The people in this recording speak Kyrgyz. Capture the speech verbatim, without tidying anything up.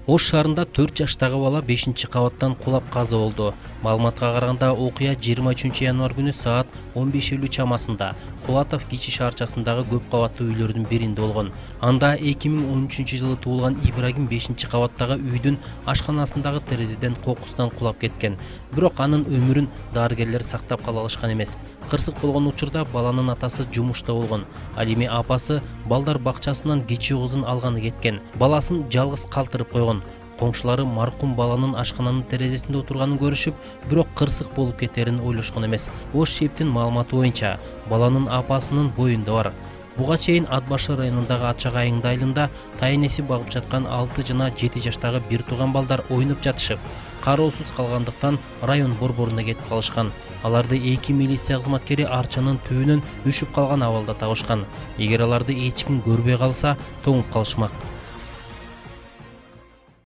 Ош шаарында төрт жаштагы бала бешинчи кабаттан кулап каза болду. Маалыматка караганда окуя жыйырма үчүнчү январь күнү саат он беш элүү чамасында Кулатов кичи шаарчасындагы көп кабаттуу үйлөрдүн биринде болгон. Анда эки миң он үчүнчү жылы туулган Ибрагим бешинчи кабаттагы үйдүн ашканасындагы терезеден кокустан кулап кеткен. Бирок анын өмүрүн дарыгерлер сактап кала алышкан эмес. Кырсык болгон учурда баланын атасы жумушта болгон. Ал эми апасы балдар бакчасынан кичүү кызын алганы кеткен. Баласын жалгыз калтырып койгон. Коңшулары маркум баланын ашкананын терезесинде отурганын көрүшүп, бирок кырсык болуп кетерин ойлошкон эмес. Ош шептин маалыматы боюнча, баланын апасынын боюнда бар. Буга чейин Ат башы районундагы Ачак айыңды айылында тайнеси багып жаткан алты жана жети жаштагы бир тууган балдар ойноп жатышып, кароосуз калгандыктан район борборуна кетип калышкан. Аларды эки милиция кызматкери арчанын түбүнөн үшүп калган абалда табышкан. Эгер аларды эч ким көрбөй калса, тоңуп калышмак.